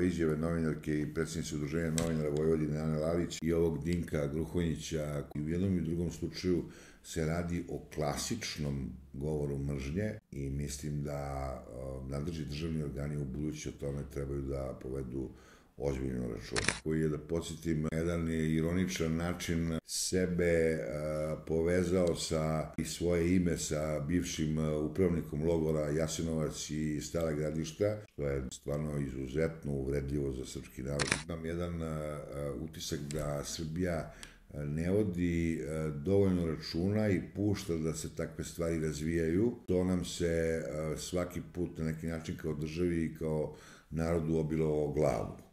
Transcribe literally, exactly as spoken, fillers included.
ove izjave novinarke i predsjednice Udruženja novinara Vojvodine Ane Lalić i ovog Dinka Gruhonjića. U jednom i drugom slučaju se radi o klasičnom govoru mržnje i mislim da nadležni državni organi u budući o tome trebaju da povedu ozbiljno račun. Koji je, da podsjetim, jedan je ironičan način sebe povezao sa i svoje ime sa bivšim upravnikom logora Jasenovac i Stara Gradišta, što je stvarno izuzetno uvredljivo za srpski narod. Imam jedan utisak da Srbija ne vodi dovoljno računa i pušta da se takve stvari razvijaju. To nam se svaki put na neki način kao državi i kao narodu obilo o glavu.